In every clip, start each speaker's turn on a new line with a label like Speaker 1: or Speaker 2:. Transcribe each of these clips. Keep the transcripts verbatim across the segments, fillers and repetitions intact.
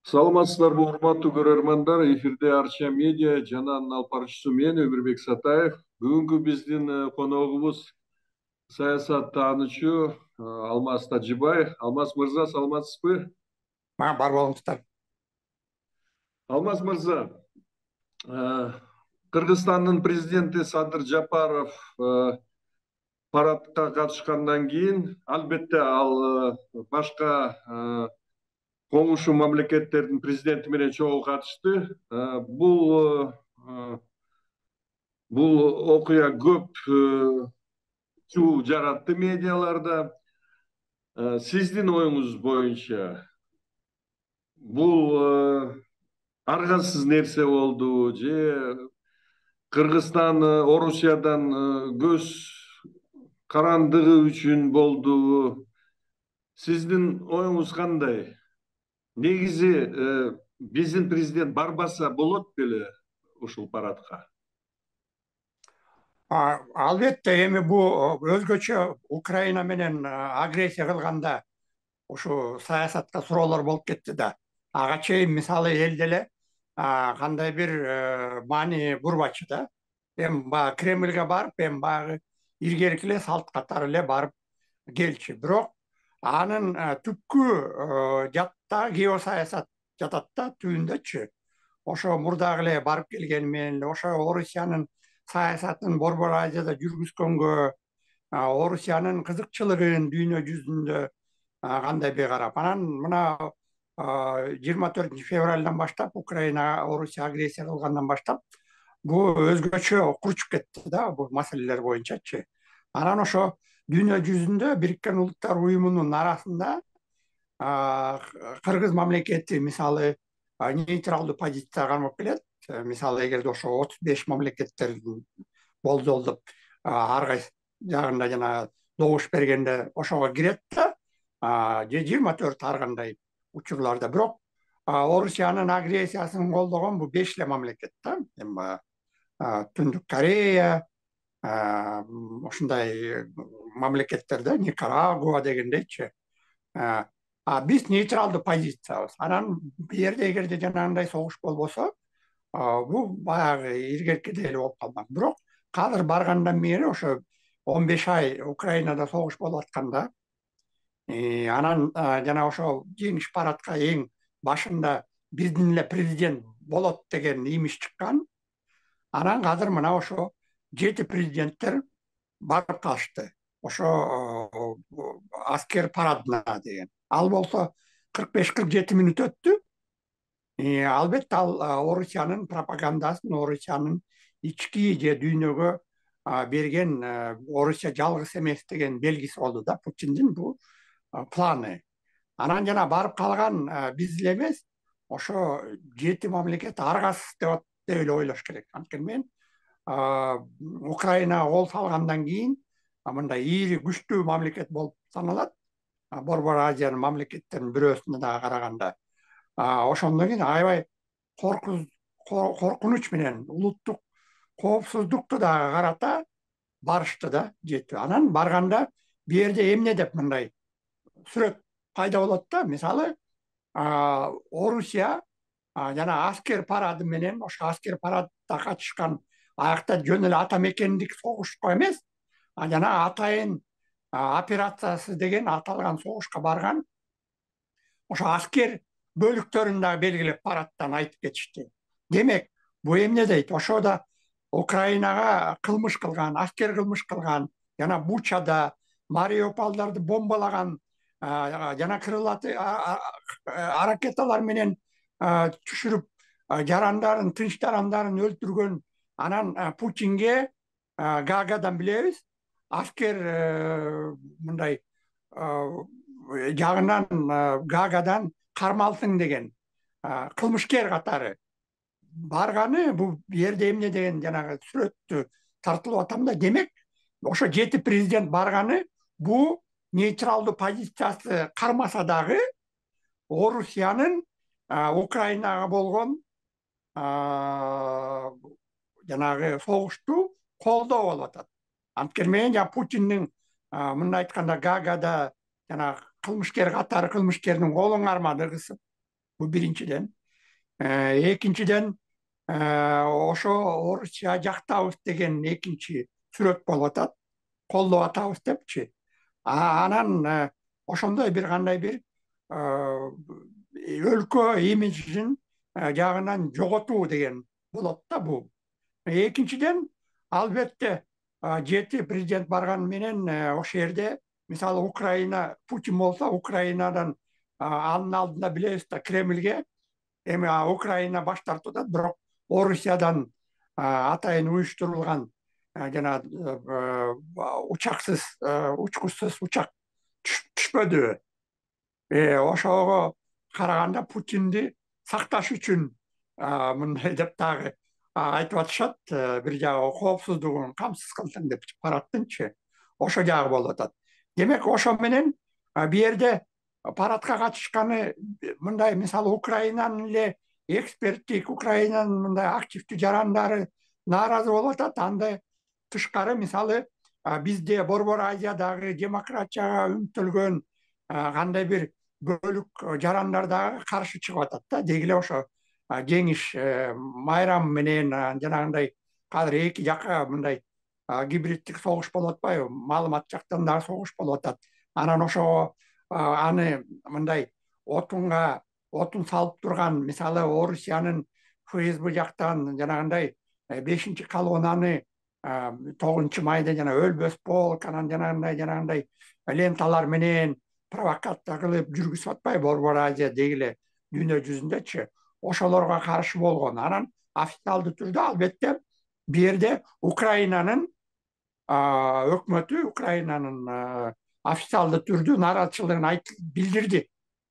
Speaker 1: Саламатсыздарбы, урматтуу көрөрмандар. Эфирде Арча медиа жана анын алып баруучусу мен Өмүрбек Сатаев. Бүгүнкү биздин коногубуз саясат таанычу Алмаз Тажибаев. Алмаз мырза, саламатсызбы?
Speaker 2: Бар болуңуздар.
Speaker 1: Алмаз мырза, Кыргызстандын президенти Садыр Жапаров парадка катышкандан кийин, албетте ал башка коңшу мамлекеттердин президенти менен чогуу катышты. Бул бул окуя көп чуу жаратты медиаларда. Сиздин оюңуз боюнча бул аргасыз нерсе болду же Кыргызстан Орусиядан көз карандыгы үчүн болду? Сиздин оюңуз кандай? Негизи биздин президент барбаса болот беле ушул парадка?
Speaker 2: Албетте, эми бул өзгөчө Украина менен агрессия кылганда ушу саясатка суроолор болуп кетти да. Ага чейин мисалы эл деле кандай бир маани бурбачу да. Эми баягы Кремльге барып, эми баягы илгерки эле салт катары эле барып келчү. Бирок анын түпкү жатта геосаясат жатат да, түбүндөчү. Ошо мурдагы эле барып келгени менен эле ошо Орусиянын саясатын Борбор Азияда жүргүзгөнгө, Орусиянын кызыкчылыгын дүйнө жүзүндө кандайбы карап, анан мына жыйырма төртүнчү февралдан баштап, Украина Орусия агрессия кылгандан баштап бул өзгөчө курчуп кетти да, бул маселелер боюнчачы. Анан ошо дүйнө жүзүндө Бириккен Улуттар уюмунун арасында Кыргыз мамлекети мисалы нейтралдуу позицияга кармап келет. Мисалы эгерде ошо отуз беш мамлекеттер болжолдоп ар кайсы жагында жана добуш бергенде ошого кирет да, же жыйырма төрт ар кандай учурларда. Бирок Орусиянын агрессиясын колдогон бул беш эле мамлекет да. Эми баягы Түндүк Корея, ушундай мамлекеттер да, Никарагуа дегендейчи. А биз нейтралдуу позициябыз. Анан бул жерде эгерде жанагындай согуш болбосо, бул баягы илгеркидей эле болуп калмак. Бирок азыр баргандан бери ошо он беш ай Украинада согуш болуп атканда, анан жана ошо жеңиш парадка эң башында биздин эле президент болот деген имиш чыккан. Анан азыр мына ошо жети президенттер барып калышты. Ошо аскер парадына деген. Ал болсо кырк беш кырк жети мүнөт өттү. Албетте ал Орусиянын пропагандасын, Орусиянын ички же дүйнөгө берген Орусия жалгыз эмес деген белгиси болду да, Путиндин бул планы. Анан жана барып калган биз эле эмес, ошо жети мамлекет аргасыз деп эле ойлош керек. Анткени мен Украинага кол салгандан кийин мындай ири күчтүү мамлекет болуп саналат. Борбор Азиянын мамлекеттеринин бирөөсүнө дагы караганда. Ошондон кийин аябай коркунуч менен улуттук коопсуздукту дагы карата барышты да, жети. Анан барганда бу жерде эмне деп мындай сүрөт пайда болот да. Мисалы Орусия жана аскер парады менен, ошо аскер парадда катышкан аякта жөн эле ата мекендик согушко эмес, жана атайын операциясы деген аталган согушка барган ошо аскер бөлүктөрүн дагы белгилеп парадтан айтып кетишти. Демек, бул эмне дейт? Ошо да Украинага кылмыш кылган, аскер кылмыш кылган, жана Бучада Мариуполдорду бомбалаган, жана крылатый ракеталар менен түшүрүп жарандарын, тынч жарандарын өлтүргөн. Анан Путинге Гаагадан билебиз, аскер мындай жагынан Гаагадан кармалсын деген кылмышкер катары барганы. Бул жерде эмне деген жанагы сүрөттү тартылып атам да. Демек, ошо жети президент барганы бул нейтралдуу позициясы кармаса дагы Орусиянын Украинага болгон жанагы согушту колдоо болуп атат. Анткени мен жана Путиндин мындай айтканда Гаагада жана кылмышкер катары кылмышкердин колун кармады кысып Бул биринчиден. Экинчиден, ошо Орусия жактабыз деген экинчи сүрөт болуп атат. Колдоп атабыз депчи. Анан ошондой бир кандай бир өлкө имиджин жагынан жоготуу деген болот да бул. Экинчиден, албетте жети президент барган менен ошол жерде мисалы Украина, Путин болсо Украинадан анын алдында билебиз да Кремльге эми Украина баш тартып атат, бирок Орусиядан атайын уюштурулган жана учаксыз, учкучсуз учак түшпөдү. Ошого караганда Путинди сакташ үчүн мындай деп дагы айтып атышат, бир жагы коопсуздугун камсыз кылсын деп парадтынчы. Ошо жагы болуп атат. Демек, ошо менен бу жерде парадка катышканы мындай мисалы Украинанын эле эксперттик, Украинанын мындай активдүү жарандары нааразы болуп атат. Андай тышкары мисалы бизде Борбор Азиядагы демократияга үмүттөлгөн кандай бир бөлүк жарандар дагы каршы чыгып атат да. Деги эле ошо жеңиш майрам менен жанагындай азыр эки жака мындай гибриддик согуш болуп атпайбы? Маалымат жактан дагы согуш болуп атат. Анан ошого аны мындай отунга отун салып турган мисалы Орусиянын ФСБ жактан жанагындай бешинчи колоннаны тогузунчу майда жана өлбөс полк, анан жанагындай жанагындай ленталар менен провокация кылып жүргүзүп атпайбы Борбор Азия деги эле дүйнө жүзүндөчү? Ошолорго каршы болгон. Анан официалдуу түрдө албетте бу жерде Украинанын өкмөтү, Украинанын официалдуу түрдө нааразычылыгын айтып билдирди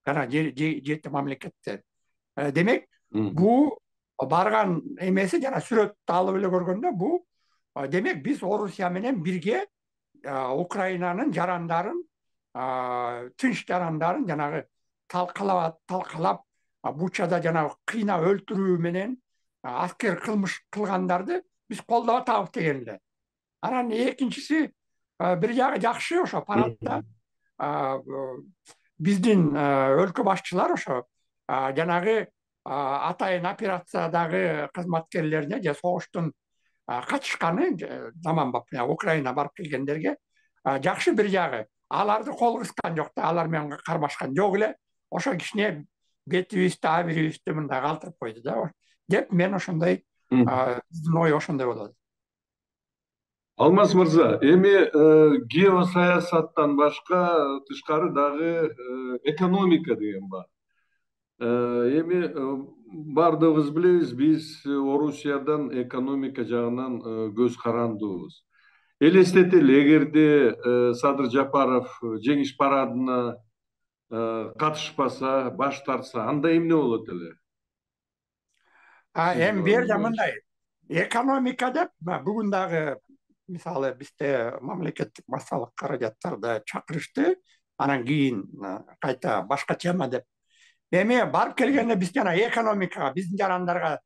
Speaker 2: жана жети мамлекеттер. Демек, бул барган эмеси жана сүрөттү алып эле көргөндө бул демек биз Орусия менен бирге Украинанын жарандарын, тынч жарандарын жанагы талкалап талкалап Бучада жанагы кыйнап өлтүрүү менен аскер кылмыш кылгандарды биз колдоп атабыз деген эле. Анан экинчиси, бир жагы жакшы, ошо парадда биздин өлкө башчылар ошо жанагы атайын операциядагы кызматкерлерине же согуштун катышканы заманбап Украина барып келгендерге жакшы бир жагы. Аларды кол кыскан жок да, алар менен кармашкан жок эле. Ошо кичине бетибизди, абийибизди мындай калтырып койду да деп мен ошондой биздин ой ошондой болот.
Speaker 1: Алмаз мырза, эми геосаясаттан башка тышкары дагы экономика деген бар. Эми бардыгыбыз билебиз, биз Орусиядан экономика жагынан көз карандыбыз. Элестетели, эгерде Садыр Жапаров жеңиш парадына катышпаса, баш тартса, анда эмне болот эле?
Speaker 2: Эми бу жерде мындай экономика деп бүгүн дагы мисалы бизде мамлекеттик массалык каражаттарды чакырышты, анан кийин кайта башка тема деп. Эми барып келгенде биз жана экономикага, биздин жарандарга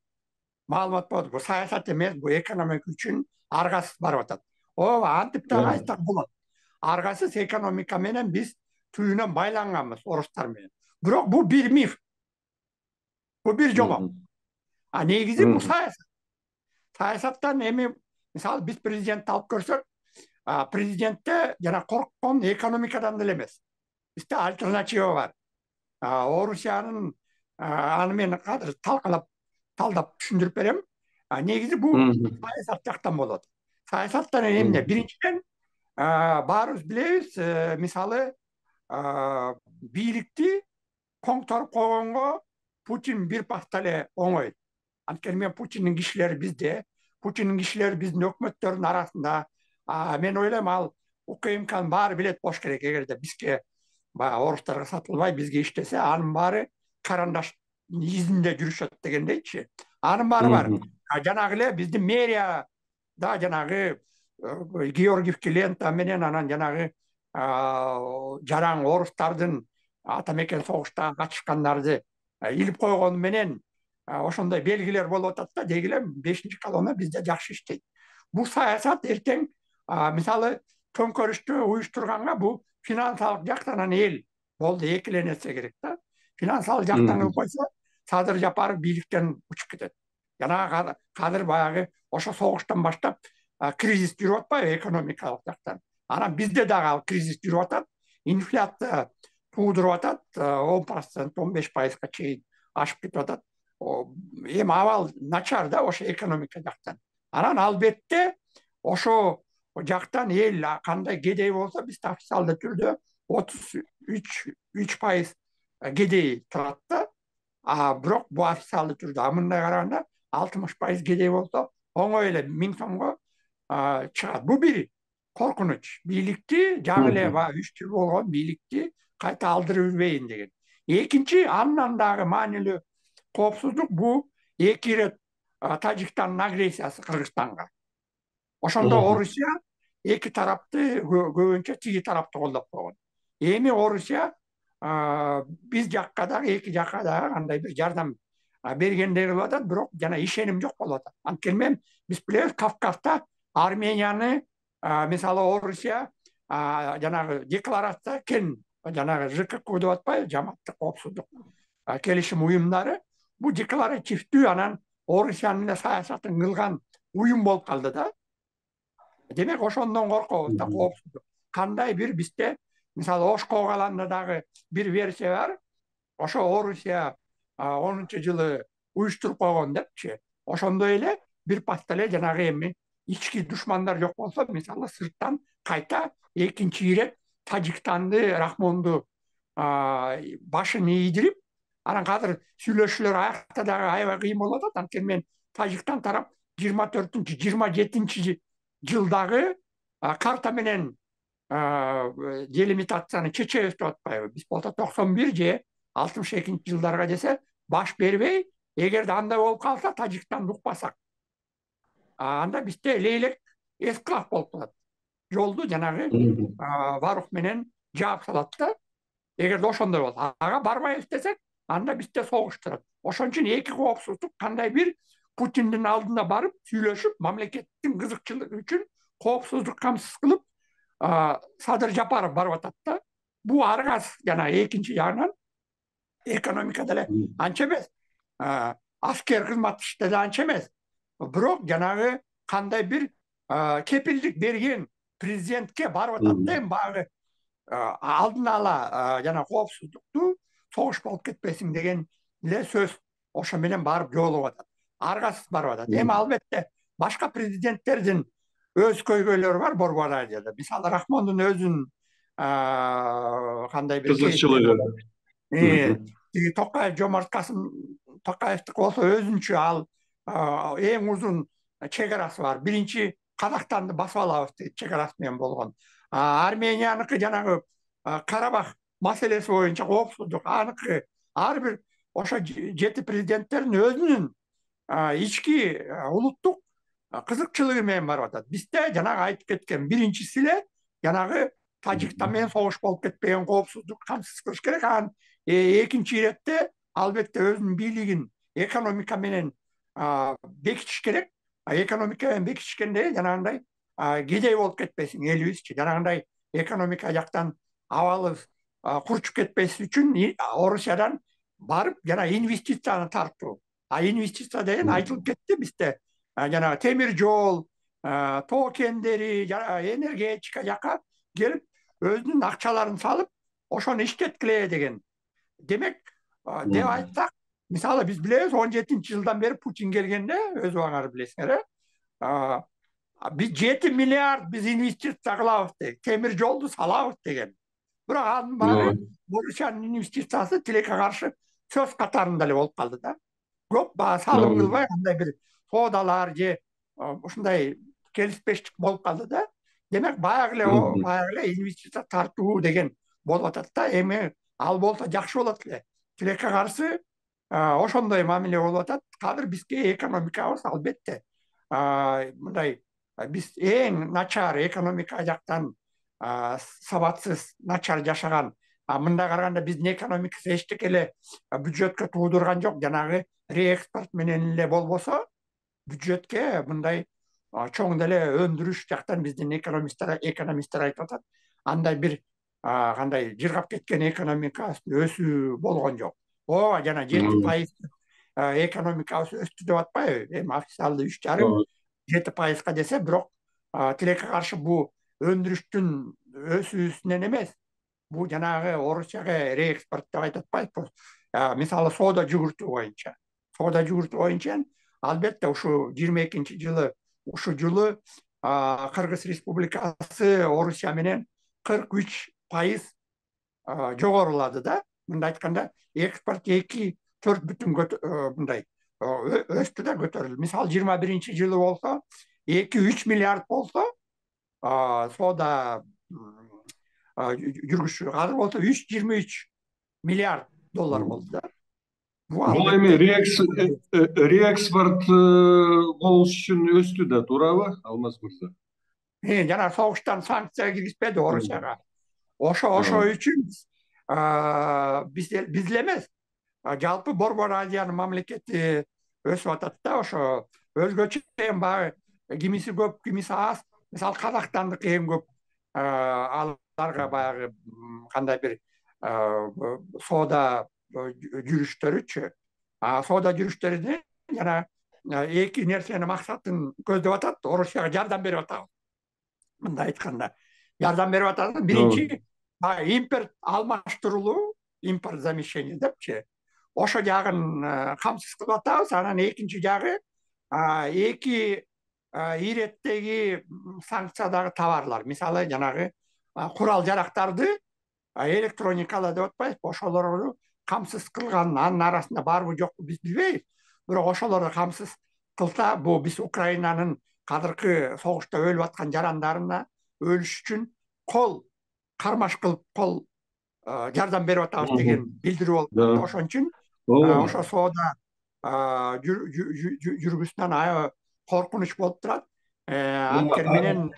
Speaker 2: маалымат болот. Бул саясат эмес, бул экономика үчүн аргасыз барып атат. Ооба, антип дагы айтсак болот. Аргасыз экономика менен биз түйүнөн байланганбыз орустар менен. Бирок бул бир миф. Бул бир жолок. А негизи бул саясат. Саясаттан эми мисалы биз президентти алып көрсөк, президентте жана корккон экономикадан деле эмес. Бизде альтернатива бар. Орусиянын аны мен азыр талкалап, талдап түшүндүрүп берем. Негизи бул саясат жактан болот. Саясаттан эмне? Биринчиден, баарыбыз билебиз, мисалы бийликти коңторуп койгонго Путин бир пахта эле оңой. Анткени мен Путиндин кишилери бизде, Путиндин кишилери биздин өкмөттөрдүн арасында. Мен ойлойм, ал УКМКнын баары билет болуш керек. Эгерде бизге баягы орустарга сатылбай бизге иштесе, анын баары карандаш изинде жүрүшөт дегендейчи. Анын баары бар. Жанагы эле биздин мэрияда жанагы Георгиевки лента менен анан жанагы жаран орустардын ата мекен согуштагы катышкандарды илип койгону менен ошондой белгилер болуп атат да, деги эле бешинчи колонна бизде жакшы иштейт. Бул саясат эртең мисалы төңкөрүштү уюштурганга бул финансылык жактан эл болду экиленсе керек да. финансалдык жактан кылып койсо Садыр Жапаров бийликтен учуп кетет. Жана кадыр баягы ошо согуштан баштап кризис жүрүп атпайбы экономикалык жактан. Анан бизде дагы ал кризис жүрүп атат. Инфляция туудуруп атат, он процент он беш пайызга чейин ашып кетип атат. Эми абал начар да ошо экономика жактан. Анан албетте ошо жактан эл кандай кедей болсо бизде официалдуу түрдө отуз үч пайыз кедей турат да. А бирок бул официалдуу түрдө, а мындай караганда алтымыш пайыз кедей болсо оңой эле миң сомго чыгат. Бул бир коркунуч. Бийликти жаңы эле баягы үч жыл болгон бийликти кайта алдырып жүрбөйүн деген. Экинчи, андан дагы маанилүү коопсуздук бул эки ирет Тажикстандын агрессиясы Кыргызстанга. Ошондо Орусия эки тарапты көбүнчө тиги тарапты колдоп койгон. Эми Орусия биз жакка дагы эки жакка дагы кандай бир жардам бергендей кылып атат, бирок жана ишеним жок болуп атат. Анткени биз билебиз, Кавказда Арменияны мисалы Орусия жанагы декларация кен, жанагы ЖКК деп атпайбы, жамааттык коопсуздук келишим уюмдары, бул декларативдүү анан Орусиянын эле саясатын кылган уюм болуп калды да. Демек ошондон коркобуз да, коопсуздук. Кандай бир бизде мисалы Ош каланда дагы бир версия бар. Ошо Орусия онунчу жылы уюштуруп койгон депчи. Ошондой эле бир патта эле жанагы эми ички душмандар жок болсо, мисалы сырттан кайта экинчи ирет Тажикстанды, Рахмонду башын ийдирип, анан азыр сүйлөшүүлөр аякта дагы аябай кыйын болуп атат. Анткени мен Тажикстан тарап жыйырма төртүнчү жыйырма жетинчи жылдагы карта менен делимитацияны чечебиз деп атпайбы. Биз болсо токсон бир же алтымыш экинчи жылдарга десе баш бербей, эгерде андай болуп калса, Тажикстанды укпасак, анда бизде лейлек эсклав болуп калат. Жолду жанагы Варух менен жаап салат да. Эгерде ошондой болсо, ага барбайбыз десек, анда бизде согуш турат. Ошон үчүн эки коопсуздук кандай бир Путиндин алдына барып сүйлөшүп, мамлекеттин кызыкчылыгы үчүн коопсуздук камсыз кылып Садыр Жапаров барып атат да. Бул аргас жана экинчи жагынан экономика деле анча эмес, аскер кызмат иште да анча эмес. Бирок жанагы кандай бир кепилдик берген президентке барып атат да, эми баягы алдын ала жана коопсуздукту согуш болуп кетпесин деген эле сөз ошо менен барып жоолуп атат. Аргасыз барып атат. Эми албетте башка президенттердин өз көйгөйлөрү бар Борбор Азияда. Мисалы Рахмондун өзүнүн кандай бир
Speaker 1: кызыкчылыгы.
Speaker 2: Тиги Токаев, Жомарт Касым Токаевдики болсо өзүнчө ал эң узун чек-арасы бар. Биринчи Казакстанды басып алабыз дейт, чек-арасы менен болгон. Арменияныкы жанагы Карабах маселеси боюнча коопсуздук, аныкы ар бир ошо жети президенттердин өзүнүн ички улуттук кызыкчылыгы менен барып атат. Бизде жанагы айтып кеткен биринчиси эле жанагы Тажикстан менен согуш болуп кетпеген коопсуздук камсыз кылыш керек. Анан экинчи иретте албетте өзүнүн бийлигин экономика менен бекитиш керек. Экономика менен бекитишкенде жанагындай кедей болуп кетпесин элибизчи. Жанагындай экономика жактан абалыбыз курчуп кетпесин үчүн Орусиядан барып жана инвестицияны тартуу. А инвестиция деген айтылып кетти бизде. Жана темир жол, тоо кендери, жана энергетика жака келип өзүнүн акчаларын салып, ошону иштеткиле деген. Демек, деп айтсак, мисалы биз билебиз, он жетинчи жылдан бери Путин келгенде, өз убагыңар билесиңер, э? Биз жети миллиард биз инвестиция кылабыз дейт, темир жолду салабыз деген. Бирок анын баары Орусиянын инвестициясы тилекке каршы сөз катарында эле болуп калды да. Көп баягы салым кылбай, андай бир соодалар же ушундай келиспештик болуп калды да. Демек, баягы эле баягы эле инвестиция тартуу деген болуп атат да. Эми ал болсо жакшы болот эле. Тилекке каршы ошондой мамиле болуп атат. Азыр бизге экономикабыз албетте мындай биз эң начар экономика жактан сабатсыз, начар жашаган. Мындай караганда биздин экономикасы эчтеке эле бюджетке туудурган жок. Жанагы реэкспорт менен эле болбосо, бюджетке мындай чоң деле өндүрүш жактан биздин экономисттер экономисттер айтып атат. Андай бир кандай жыргап кеткен экономика өсүү болгон жок. ооба жана жети пайыз экономикабыз өстү деп атпайбы? Эми официалдуу үч жарым жети пайызга десе, бирок тилекке каршы бул өндүрүштүн өсүүсүнөн эмес. Бул жанагы орусчага реэкспорт деп айтып атпайбызбы? Мисалы соода жүгүртүү боюнча. Соода жүгүртүү боюнча албетте ушу жыйырма экинчи жылы ушу жылы Кыргыз Республикасы Орусия менен кырк үч пайыз жогорулады да. Мындай айтканда, экспорт эки төрт бүтүн мындай өстү да, көтөрүлдү. Мисалы жыйырма биринчи жылы болсо, эки үч миллиард болсо, соода жүргүзүшү азыр болсо үч жыйырма үч миллиард доллар болду да.
Speaker 1: Бул эми реэкспорт болуш үчүн өстү да, туурабы, Алмаз мырза?
Speaker 2: Жана согуштан санкция киргизбеди Орусияга. Ошо ошо үчүн биз биз эле эмес, жалпы Борбор Азиянын мамлекети өсүп атат да. Ошо өзгөчө эми баягы кимиси көп, кимиси аз. Мисалы Казакстандык эң көп, аларга баягы кандай бир соода жүрүштөрүчү. Соода жүрүштөрүнө жана эки нерсенин максатын көздөп атат. Орусияга жардам берип атабыз. Мындай айтканда, жардам берип атат. Биринчи импорт алмаштырылуу, импорт замещение депчи. Ошо жагын камсыз кылып атабыз. Анан экинчи жагы эки иреттеги санкциядагы товарлар. Мисалы жанагы курал жарактарды, электроникалар деп атпайбызбы? Ошолорду камсыз кылган, анын арасында барбы жокпу биз билбейбиз. Бирок ошолорду камсыз кылса, бул биз Украинанын азыркы согушта өлүп аткан жарандарына өлүш үчүн кол кармаш кылып, кол жардам берип атабыз деген билдирүү болду. Ошон үчүн ошо соода жүргүсүнөн аябай коркунуч болуп турат. Анткени менен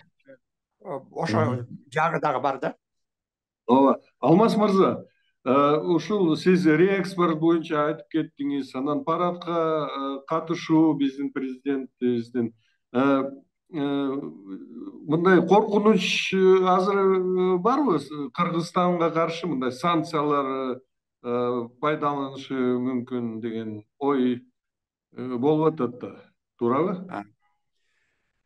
Speaker 2: ошо жагы дагы бар да.
Speaker 1: Ооба. Алмаз мырза, ушул сиз реэкспорт боюнча айтып кеттиңиз, анан парадка катышуу биздин президентибиздин. Мындай коркунуч азыр барбы? Кыргызстанга каршы мындай санкциялар пайдаланышы мүмкүн деген ой болуп атат да, туурабы?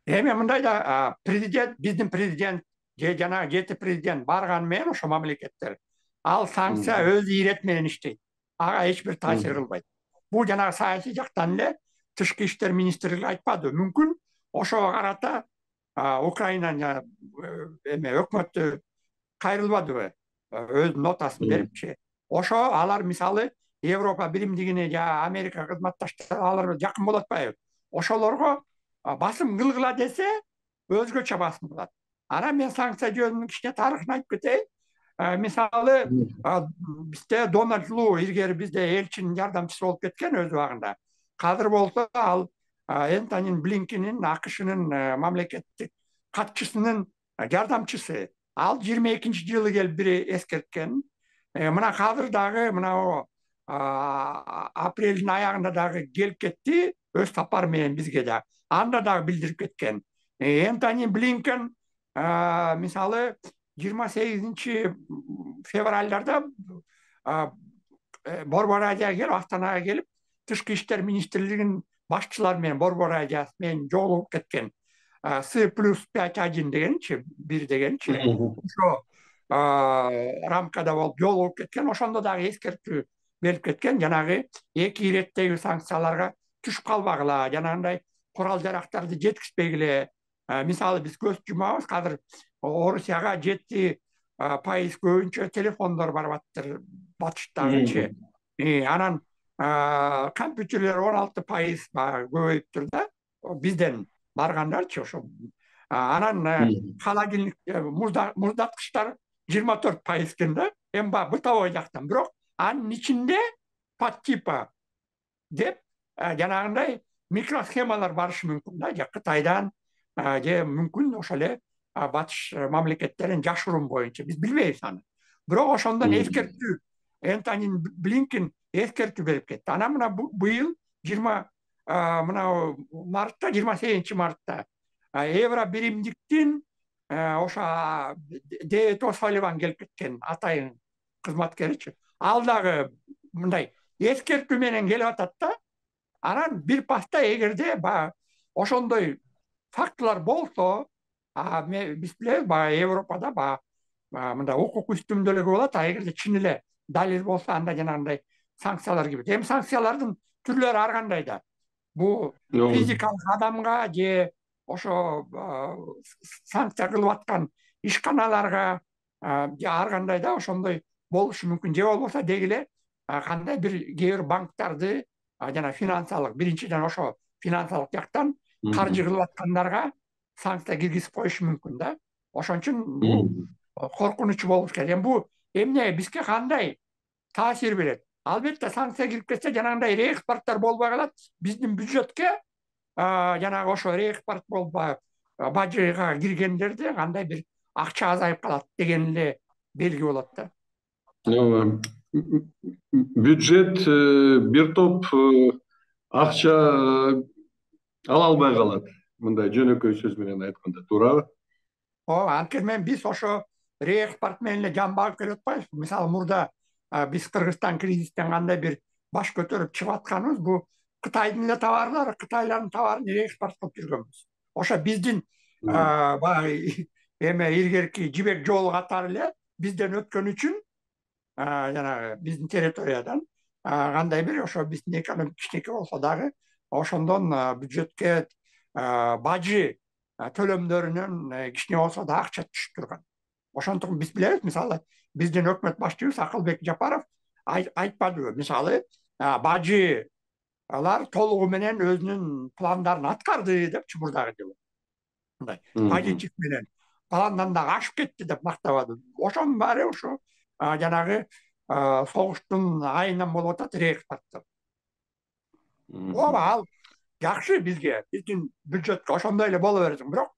Speaker 2: Эми мындай да, президент, биздин президент же жана жети президент барганы менен ошо мамлекеттер, ал санкция өз ирети менен иштейт. Ага эч бир таасир кылбайт. Бул жанагы саясий жактан эле тышкы иштер министрлиги айтпады. Мүмкүн ошого карата Украинанын эме өкмөтү кайрылбадыбы, өз нотасын берипчи. Ошо алар мисалы Европа биримдигине же Америка кызматташтары алар жакын болуп атпайбы? Ошолорго басым кылгыла десе, өзгөчө басым кылат. Анан мен санкция жөнүндө кичине тарыхын айтып кетейин. Мисалы бизде Дональд Лу илгери бизде элчинин жардамчысы болуп кеткен өз убагында. Азыр болсо ал Энтони Блинкендин, АКШнын мамлекеттик катчысынын жардамчысы. Ал жыйырма экинчи жылы келип бири эскерткен. Мына азыр дагы мына апрелдин аягында дагы келип кетти, өз сапары менен бизге да. Анда дагы билдирип кеткен. Энтони Блинкен мисалы жыйырма сегизинчи февралдарда Борбор Азияга келип, Астанага келип, тышкы иштер министрлигинин башчылары менен Борбор Азия менен жолугуп кеткен. С плюс пять один дегенчи, бир дегенчи. Ошо рамкада болуп жолугуп кеткен. Ошондо дагы эскертүү берип кеткен. Жанагы эки иреттеги санкцияларга түшүп калбагыла, жанагындай курал жарактарды жеткизбегиле. Мисалы биз көз жумабыз, азыр Орусияга жети пайыз көбүнчө телефондор барып атыптыр батыштагычы. Анан компьютерлер он алты пайыз көбөйүптүр да, бизден баргандарчы ошо. Анан холодильник, муздаткычтар жыйырма төрт пайыз экен да, эми баягы бытовой жактан. Бирок анын ичинде подтипа деп жанагындай микросхемалар барышы мүмкүн да, же Кытайдан, же мүмкүн ошо эле батыш мамлекеттерин жашыруун боюнча, биз билбейбиз аны. Бирок ошондон эскертүү, Энтони Блинкен эскертүү берип кетти. Анан мына быйыл жыйырма мына мартта, жыйырма сегизинчи мартта Евро биримдиктин ошо Дэвид О'Салливан келип кеткен, атайын кызматкеричи. Ал дагы мындай эскертүү менен келип атат да. Анан бир паста эгерде баягы ошондой фактылар болсо, биз билебиз баягы Европада баягы мындай укук үстүмдүүлүгү болот, а эгерде чын эле далил болсо анда жанагындай санкциялар кирет. Эми санкциялардын түрлөрү ар кандай да. Бул физикалык адамга же ошо санкция кылып аткан ишканаларга же ар кандай да ошондой болушу мүмкүн. Же болбосо деги эле кандай бир кээ бир банктарды жана финансалык, биринчиден ошо финансалык жактан каржы кылып аткандарга санкция киргизип коюшу мүмкүн да. Ошон үчүн бул коркунучу болуш керек. Эми бул эмне бизге кандай таасир берет? Албетте санкция кирип кетсе жанагындай реэкспорттор болбой калат. Биздин бюджетке жанагы ошо реэкспорт болуп бажыга киргендерде кандай бир акча азайып калат деген эле белги болот да.
Speaker 1: Бюджет бир топ акча ала албай калат. Мындай жөнөкөй сөз менен айтканда, туурабы?
Speaker 2: Ооба, анткени мен биз ошо реэкспорт менен эле жан багып келип атпайбызбы? Мисалы мурда биз Кыргызстан кризистен кандай бир баш көтөрүп чыгып атканыбыз, бул Кытайдын эле товарлары, Кытайлардын товарын реэкспорт кылып жүргөнбүз. Ошо биздин баягы эме илгерки жибек жолу катары эле бизден өткөн үчүн жанагы биздин территориядан кандай бир ошо биздин экономика кичинекей болсо дагы ошондон бюджетке бажы төлөмдөрүнөн кичине болсо да акча түшүп турган. Ошондуктан биз билебиз, мисалы биздин өкмөт башчыбыз Акылбек Жапаров айтпадыбы, мисалы бажылар толугу менен өзүнүн пландарын аткарды депчи мурдагы жылы. Мындай позитив менен пландан дагы ашып кетти деп мактабады. Ошонун баары ошо жанагы согуштун айынан болуп атат реэкспорттор. Ооба, ал жакшы бизге, биздин бюджетке ошондой эле боло берсин. Бирок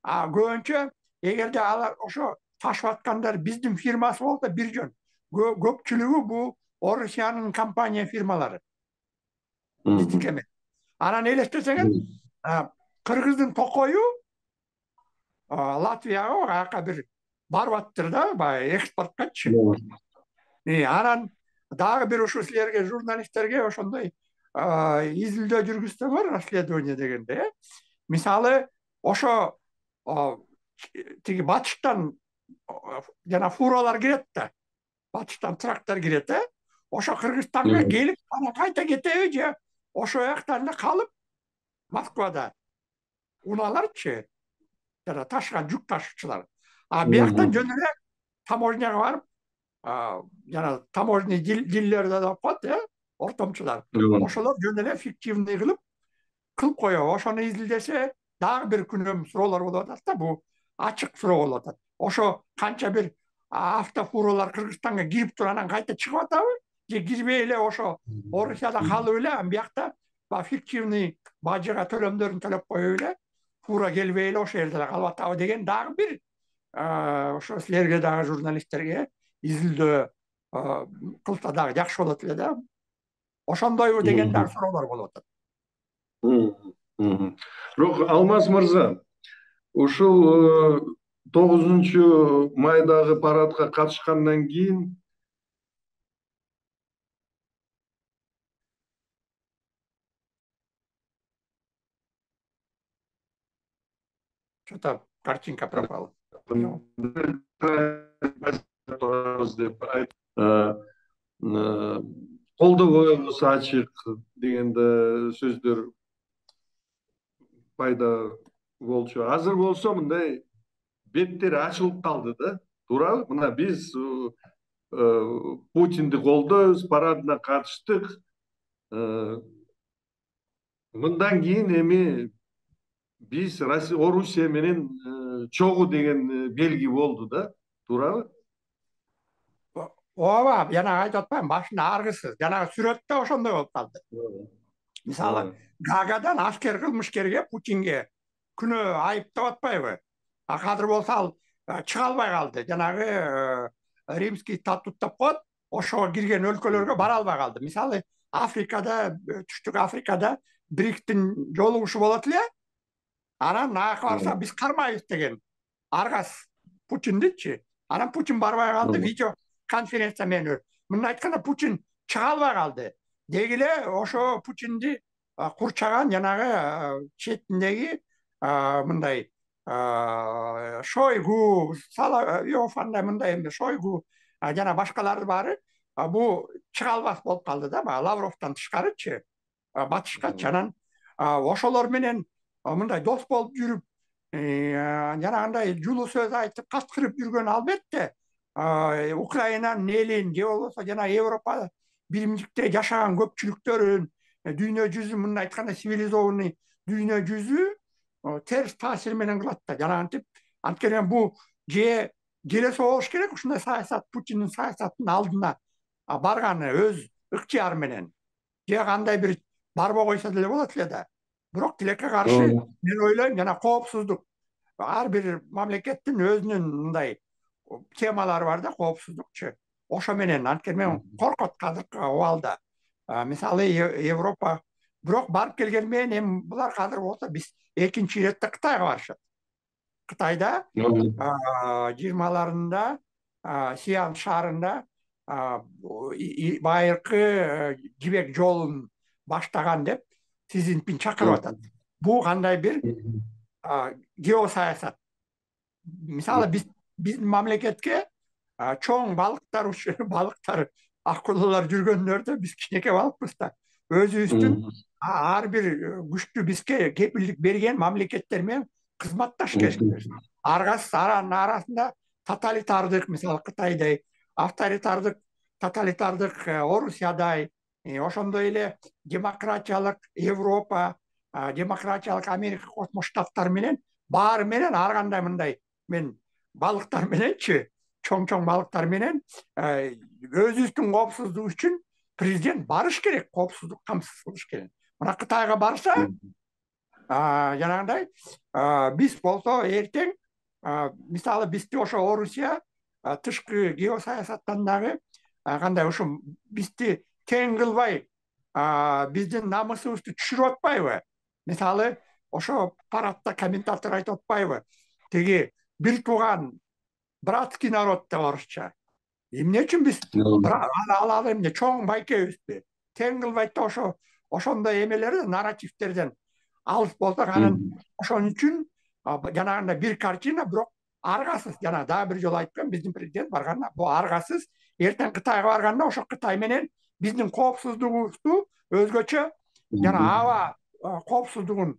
Speaker 2: көбүнчө эгерде алар ошо ташып аткандар биздин фирмасы болсо бир жөн. Көпчүлүгү бул Орусиянын компания фирмалары. Биздики эмес. Анан элестесеңер, Кыргыздын Токою Латвияга аяка бир барып аттыр да, баягы экспорткачы. Анан дагы бир ушу силерге, журналисттерге ошондой изилдөө жүргүзсөңөр, расследование дегенде, мисалы ошо тиги батыштан жана фуралар кирет да, батыштан трактор кирет, э? Ошо Кыргызстанга келип, анан кайта кетеби же ошо жактан эле калып Москвада унааларчы, жана ташыган жүк ташуучулар. А бияктан жөн эле таможняга барып, жана таможный дилерде деп коет, э, ортомчулар. Ошолор жөн эле фиктивный кылып кылып коёбу. Ошону изилдесе дагы бир күнөм суроолор болуп атат да, бул ачык суроо болуп атат. Ошо канча бир автофуралар Кыргызстанга кирип туруп анан кайта чыгып атабы? Же кирбей эле ошо Орусияда калып эле, анан биякта фиктивный бажыга төлөмдөрүн төлөп коюп эле, фура келбей эле ошо жерде калып атабы деген дагы бир ошо силерге дагы журналисттерге изилдөө кылса дагы жакшы болот эле да. Ошондойбу деген дагы суроолор болуп атат.
Speaker 1: Бирок Алмаз мырза, ушул тогузунчу майдагы парадка катышкандан кийин
Speaker 2: Что-то картинка пропала.
Speaker 1: Колдоо коебуз ачык дегенде сөздөр пайда болчу. Азыр болсо мындай беттери ачылып калды да, туурабы? Мына биз Путинди колдойбуз, парадына катыштык. Мындан кийин эми биз Орусия менен чогуу деген белги болду да, туурабы?
Speaker 2: Ооба, жана айтып атпаймынбы, башында аргысыз. Жана сүрөттө ошондой болуп калды. Мисалы, Гаагадан аскер кылмышкерге, Путинге күнөө айыптап атпайбы? А азыр болсо ал чыга албай калды. Жанагы римский статут деп коет, ошого кирген өлкөлөргө бара албай калды. Мисалы, Африкада, Түштүк Африкада бриктин жолугушу болот эле. Анан аяка барса биз кармайбыз деген аргас Путиндичи. Анан Путин барбай калды, видео конференция менен. Мындай айтканда Путин чыга албай калды. деги эле ошо Путинди курчаган жанагы четиндеги мындай Шойгу, Соловьев, мындай эми Шойгу жана башкалары баары бул чыга албас болуп калды да, баягы Лавровдон тышкарычы батышкачы. Анан ошолор менен мындай дос болуп жүрүп, жанагындай жулуу сөз айтып каскырып жүргөн албетте Украинанын элин же болбосо жана Европа биримдикте жашаган көпчүлүктөрүн, дүйнө жүзү, мындай айтканда цивилизованный дүйнө жүзү терс таасир менен кылат да. Жанагынтип анткени бул же желесе болуш керек ушундай саясат, Путиндин саясатынын алдына барганы өз ыктыяры менен, же кандай бир барбой койсо деле болот эле да. Бирок тилекке каршы мен ойлойм, жана коопсуздук, ар бир мамлекеттин өзүнүн мындай темалары бар да, коопсуздукчу. Ошо менен анткени мен коркот азыркы убалда. Мисалы Европа, бирок барып келген менен эми булар азыр болсо биз экинчи иретте Кытайга барышат. Кытайда жыйырмаларында Сиан шаарында байыркы жибек жолун баштаган деп Си Цзиньпин чакырып атат. Бул кандай бир геосаясат. Мисалы биз биздин мамлекетке чоң балыктар балыктар акулалар жүргөндөрдө биз кичинекей балыкпыз да. Өзүбүздүн ар бир күчтүү бизге кепилдик берген мамлекеттер менен кызматташ керекпиз. Аргасы аранын арасында тоталитардык, мисалы Кытайдай, авторитардык, тоталитардык Орусиядай, ошондой эле демократиялык Европа, демократиялык Америка Кошмо Штаттары менен баары менен ар кандай мындай мен балыктар мененчи, чоң-чоң балыктар менен өзүбүздүн коопсуздук үчүн президент барыш керек, коопсуздук камсыз кылыш керек. Мына Кытайга барса, жанагындай биз болсо эртең, мисалы бизди ошо Орусия тышкы геосаясаттан дагы кандай ушу бизди тең кылбай, биздин намысыбызды түшүрүп атпайбы? Мисалы ошо парадта комментатор айтып атпайбы? Теги бир тууган братский народ деп орусча. Эмне үчүн биз ал эмне чоң байкебизби? Тең кылбайт да ошо ошондой эмелерди, нарративтерден алыс болсок, анан ошон үчүн жанагындай бир картина, бирок аргасыз. Жана дагы бир жолу айткан, биздин президент барганда бул аргасыз. Эртең Кытайга барганда ошо Кытай менен биздин коопсуздугубузду өзгөчө жана аба коопсуздугун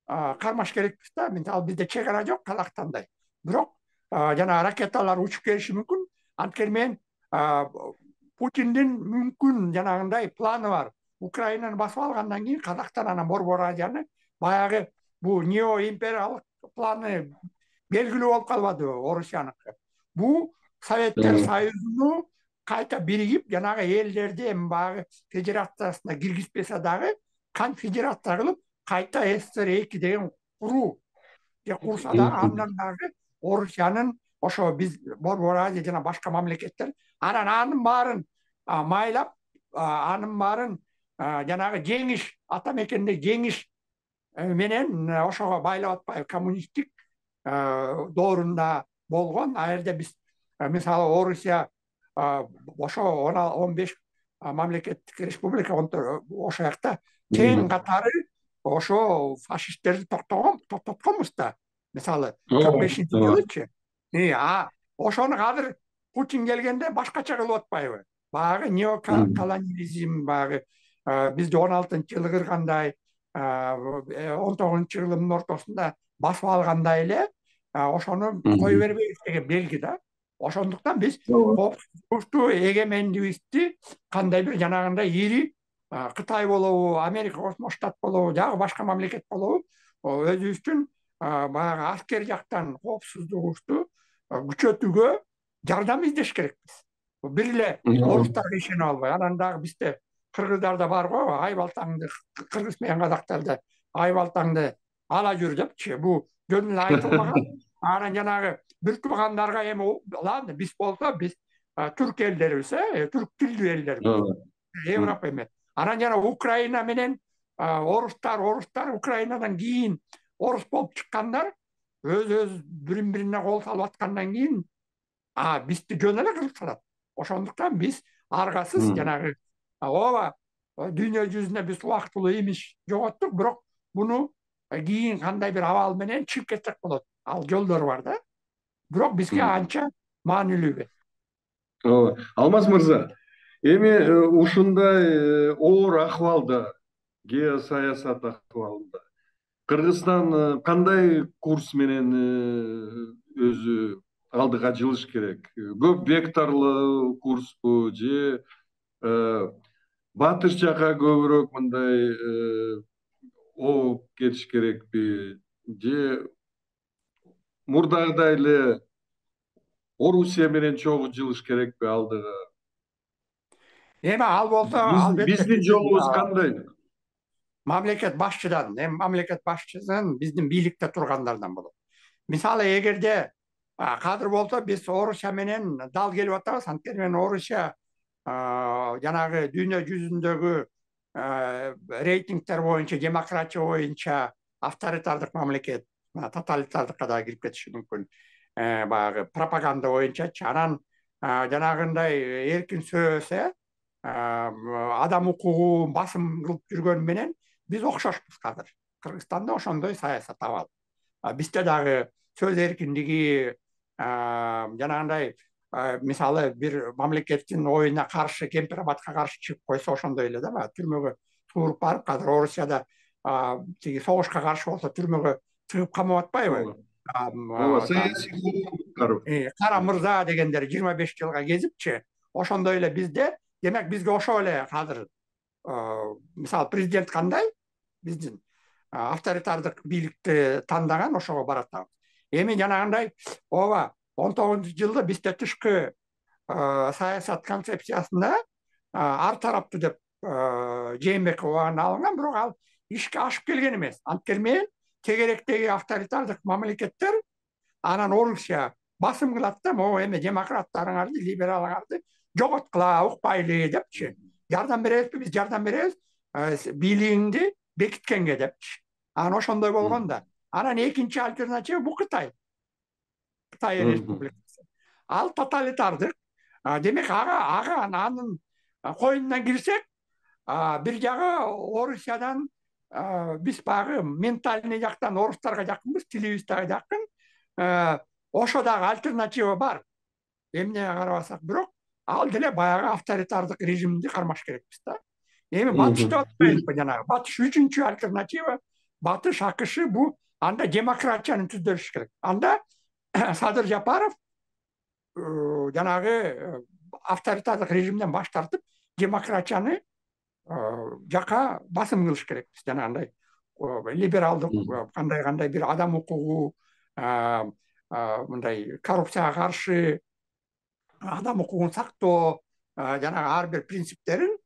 Speaker 2: кармаш керекпиз да. Мисалы бизде чек ара жок Казакстандай. Бирок жана ракеталар учуп келиши мүмкүн. Анткени мен Путиндин мүмкүн жанагындай планы бар. Украинаны басып алгандан кийин Казакстан анан Борбор Азияны баягы бул неоимпериялык планы белгилүү болуп калбадыбы Орусияныкы. Бул Советтер Союзуну кайта биригип, жанагы элдерди эми баягы федерациясына киргизбесе дагы конфедерация кылып, кайта СССР эки деген куруу же курса дагы андан дагы Орусиянын ошо биз Борбор Азия жана башка мамлекеттер анан анын баарын майлап, анын баарын жанагы жеңиш, ата мекенде жеңиш менен ошого байлап атпайбы? Коммунисттик доорунда болгон, ал жерде биз мисалы Орусия ошо он беш мамлекеттик республика, ошо жакта тең катары ошо фашисттерди токтогон, токтотконбуз да. Мисалы кырк бешинчи жылычы. Ошону азыр Путин келгенде башкача кылып атпайбы? Баягы неоколониализм, баягы бизди он алтынчы жылы кыргандай, он тогузунчу жылдын ортосунда басып алгандай эле ошону кое бербейбиз деген белги да. Ошондуктан биз коопсуздукту, эгемендигибизди кандай бир жанагындай ири Кытай болобу, Америка Кошмо Штат болобу, жагы башка мамлекет болобу, өзүбүздүн баягы аскер жактан коопсуздугубузду күчөтүүгө жардам издеш керекпиз. Бир эле орустарга ишенип албай, анан дагы бизде кыргыздарда бар го, ай балтаңды, кыргыз менен казактарда ай балтаңды ала жүр депчи. Бул жөн эле айтылбаган. Анан жанагы бир туугандарга эми биз болсо, биз түрк элдерибиз, түрк тилдүү элдербиз. Европа эмес. Анан жана Украина менен орустар, орустар Украинадан кийин орус болуп чыккандар өз-өз бирин-бирине кол салып аткандан кийин бизди жөн эле кылып салат. Ошондуктан биз аргасыз жанагы ооба дүйнө жүзүнө биз убактылуу имидж жоготтук, бирок буну кийин кандай бир абал менен чыгып кетсек болот. Ал жолдору бар да. Бирок бизге анча маанилүү эмес.
Speaker 1: Ооба. Алмаз мырза, эми ушундай оор акыбалда, геосаясат акыбалында Кыргызстан кандай курс менен өзү алдыга жылыш керек? Көп векторлуу курспу же батыш жака көбүрөөк мындай ооп кетиш керекпи же мурдагыдай эле Орусия менен чогуу жылыш керекпи алдыга?
Speaker 2: Эми ал болсо албетте
Speaker 1: Биздин жолубуз кандай?
Speaker 2: мамлекет башчыдан, эми мамлекет башчысын биздин бийликте тургандардан болот. Мисалы, эгерде кадыр болсо биз Орусия менен дал келип атабыз, анткени мен Орусия жанагы дүйнө жүзүндөгү рейтингтер боюнча, демократия боюнча авторитардык мамлекет, тоталитардыкка да кирип кетиши мүмкүн. Баягы пропаганда боюнчачы. Анан жанагындай эркин сөзсө, адам укугун басым кылып жүргөн менен биз окшошпуз кадыр. Кыргызстанда ошондой саясат абал. Бизде дагы сөз эркиндиги, жанагындай мисалы бир мамлекеттин оюна каршы, кемпир абадка каршы чыгып койсо ошондой эле да, баягы түрмөгө тууруп барып, кадыр Орусияда тиги согушка каршы болсо түрмөгө тыгып камап атпайбы?
Speaker 1: Ооба, саясий куугунтуктар.
Speaker 2: Кара мырза дегендер жыйырма беш жылга кезипчи, ошондой эле бизде, демек бизге ошол эле кадыр мисалы президент кандай? Биздин авторитардык бийликти тандаган, ошого баратабыз. Эми жанагындай, ооба, он тогузунчу жылда бизде тышкы саясат концепциясында ар тараптуу деп Жээнбеков убагында алынган, бирок ал ишке ашып келген эмес. Анткени мен тегеректеги авторитардык мамлекеттер анан Орусия басым кылат да, могу эми демократтарыңарды, либералыңарды жоготкула, укпайлы депчи. Жардам беребизби? Биз жардам беребиз, бийлигиңди бекиткенге депчи. Анан ошондой болгон да. Анан экинчи альтернатива бул Кытай. Кытай республикасы. Ал тоталитардык. Демек ага ага анын коюнуна кирсек, бир жагы Орусиядан биз багы ментальный жактан орустарга жакынбыз, тилибиз дагы жакын. Ошо дагы альтернатива бар. Эмне карабасак, бирок ал деле баягы авторитардык режимди кармаш керекпиз да. Эми батышты атпайлыкпы жанагы. Батыш үчүнчү альтернатива, батыш АКШ бу анда демократияны түздөш керек. Анда Садыр Жапаров жанагы авторитардык режимден баш тартып, демократияны жака басым кылыш керекпиз. Жанагындай либералдык, кандай-кандай бир адам укугу, мындай коррупцияга каршы, адам укугун сактоо, жанагы ар бир принциптерин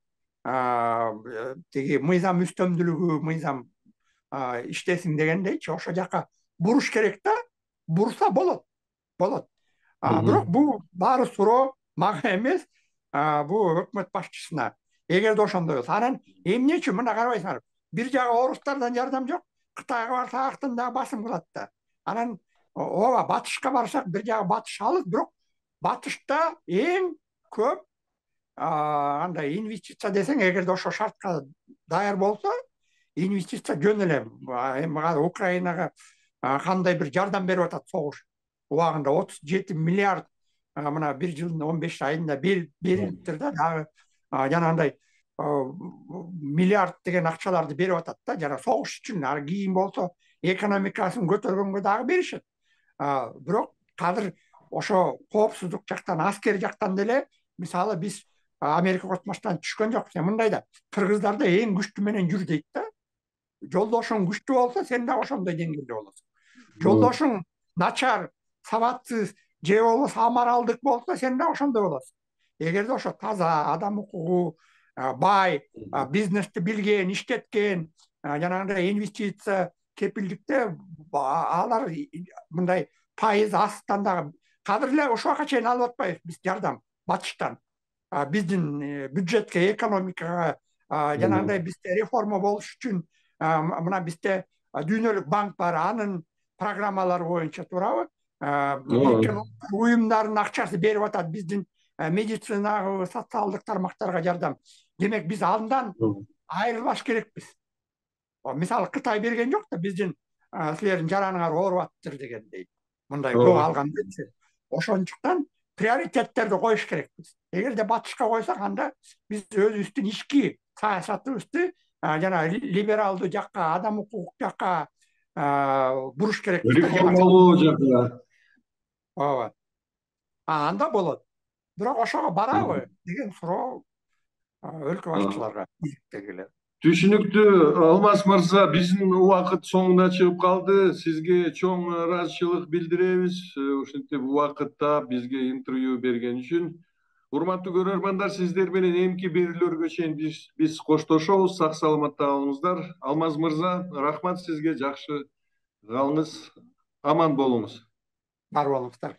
Speaker 2: тиги мыйзам үстөмдүүлүгү, мыйзам иштесин дегендейчи, ошо жака буруш керек да. Бурса болот. Болот. Бирок бул баары суроо мага эмес, бул өкмөт башчысына. Эгерде ошондой болсо, анан эмнечи мына карабайсыңар, бир жагы орустардан жардам жок, Кытайга барсак актын дагы басым кылат да. Анан ооба, батышка барсак бир жагы батыш алыс, бирок батышта эң көп андай инвестиция десең, эгерде ошо шартка даяр болсо, инвестиция жөн эле. Эми Украинага кандай бир жардам берип атат согуш убагында, отуз жети миллиард мына бир жылдын он беш айында берилиптир да, дагы жанагындай миллиард деген акчаларды берип атат да, жана согуш үчүн. Ар кийин болсо экономикасын көтөргөнгө дагы беришет. Бирок кадыр ошо коопсуздук жактан, аскер жактан деле, мисалы биз Америка Кошмо Штаттан түшкөн жокпуз. Мындай да, кыргыздарды эң күчтүү менен жүр дейт да. Жолдошуң күчтүү болсо, сен да ошондой деңгээлде болосуң. Жолдошуң начар, сабатсыз же болбосо амаралдык болсо, сен да ошондой болосуң. Эгерде ошо таза, адам укугу, бай, бизнести билген, иштеткен, жанагындай инвестиция, кепилдикте алар мындай пайыз астан дагы кадыр эле ушуга чейин алып атпайбыз биз жардам батыштан. Биздин бюджетке, экономикага, жанагындай бизде реформа болуш үчүн мына бизде дүйнөлүк банк бар, анын программалары боюнча туурабы? Бириккен уюмдардын акчасы берип атат биздин медицинага, социалдык тармактарга жардам. Демек биз андан айрылбаш керекпиз. Мисалы Кытай берген жок да биздин силердин жараныңар ооруп атыптыр дегендей. Мындай көп алгандычы. Ошончуктан приоритеттерди коюш керекпиз. Эгерде батышка койсок, анда биз өзүбүздүн ички саясатыбызды жана либералдуу жакка, адам укук жакка буруш керекпиз.
Speaker 1: Реформалоо жакка.
Speaker 2: Ооба. Анда болот. Бирок ошого барабы деген суроо өлкө башчыларга, бийликтегилер.
Speaker 1: Түшүнүктүү, Алмаз мырза, биздин убакыт соңуна чыгып калды. Сизге чоң ыраазычылык билдиребиз. Ушинтип убакытта бизге интервью берген үчүн. Урматтуу көрөрмандар, сиздер менен эмки берүүлөргө чейин биз биз коштошобуз. Сак саламатта калыңыздар. Алмаз мырза, рахмат сизге, жакшы калыңыз, аман болуңуз.
Speaker 2: Бар болуңуздар.